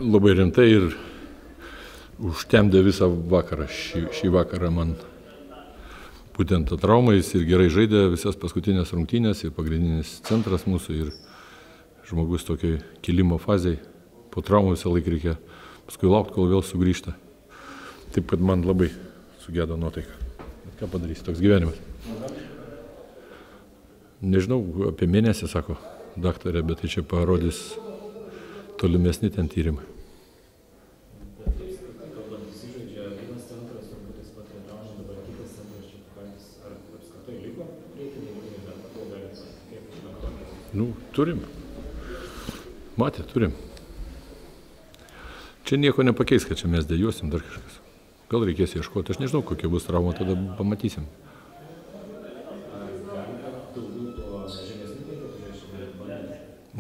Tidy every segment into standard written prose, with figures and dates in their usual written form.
labai rimtai ir užtemdė visą vakarą. Šį vakarą man būtent ta trauma, jis ir gerai žaidė visas paskutinės rungtynės ir pagrindinis centras mūsų ir žmogus tokioj kilimo fazėj. Po traumų visą laiką reikia paskui laukti, kol vėl sugrįžta. Taip, kad man labai sugedo nuotaika. Bet ką padarysi, toks gyvenimas. Nežinau, apie mėnesį, sako daktarė, bet tai čia parodys tolimesni ten tyrimai. Nu, turim. Matė, turim. Čia nieko nepakeis, kad čia mes dėjuosim dar kažkas. Gal reikės ieškoti, aš nežinau, kokia bus trauma, tada pamatysim.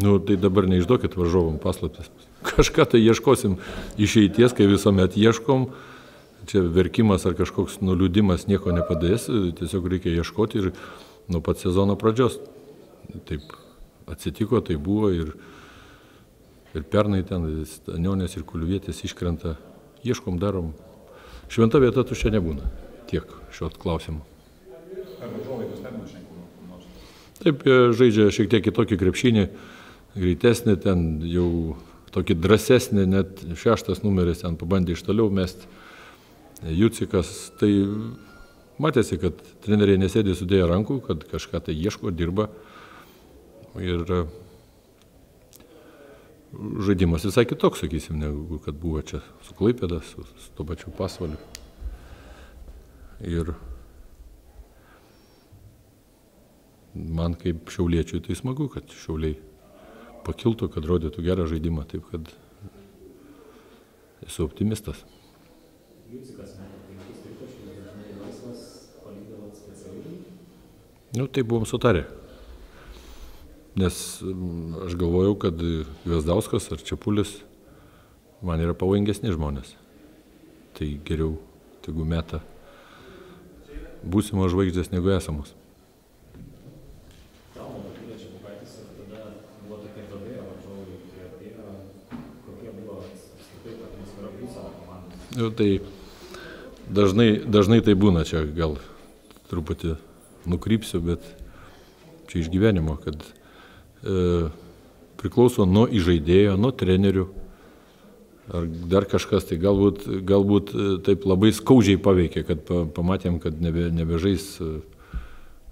Nu, tai dabar neišduokit varžovom paslaptis. Kažką tai ieškosim išeities, kai visuomet ieškom. Čia verkimas ar kažkoks nuliūdimas nieko nepadės, tiesiog reikia ieškoti ir nuo pat sezono pradžios. Taip atsitiko, tai buvo ir pernai ten Anionės ir Kulvietės iškrenta. Ieškom, darom. Šventa vieta tuščia nebūna. Tiek šio klausimų. Taip, žaidžia šiek tiek kitokį krepšinį, greitesnį, ten jau tokį drąsesnį, net 6 numeris ten pabandė iš toliau mesti. Jucikas, tai matėsi, kad treneriai nesėdė sudėję rankų, kad kažką tai ieško, dirba. Ir žaidimas visai kitoks, sakysim, negu kad buvo čia su Klaipėda, su to pačiu Pasvaliu. Ir man kaip šiauliečiui tai smagu, kad Šiauliai pakiltų, kad rodytų gerą žaidimą, taip kad esu optimistas. Nu, tai buvom sutarę. Nes aš galvojau, kad Gvazdauskas ar Čepulis man yra pavojingesni žmonės. Tai geriau tegu meta būsimos žvaigždės negu esamos. Nu, tai dažnai tai būna, čia gal truputį nukrypsiu, bet čia iš gyvenimo, kad priklauso nuo įžaidėjo, nuo trenerių, ar dar kažkas, tai galbūt taip labai skaudžiai paveikė, kad pamatėm, kad nebežais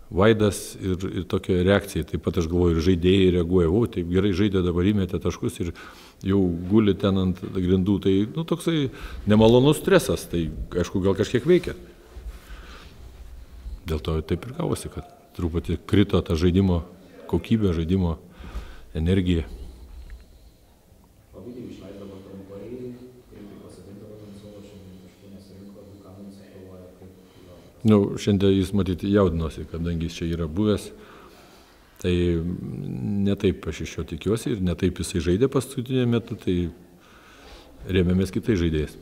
Vaidas ir tokia reakcija. Taip pat aš galvoju, ir žaidėjai reaguoja, o taip gerai žaidė, dabar įmetė taškus ir jau guli ten ant grindų, tai nu, toksai nemalonus stresas, tai aišku gal kažkiek veikia. Dėl to taip ir gavosi, kad truputį krito ta žaidimo kokybė, žaidimo energija. Nu, šiandien jis matyti jaudinosi, kadangi jis čia yra buvęs, tai netaip aš iš jo tikiuosi ir netaip jisai žaidė paskutinį metu, tai rėmėmės kitais žaidėjais.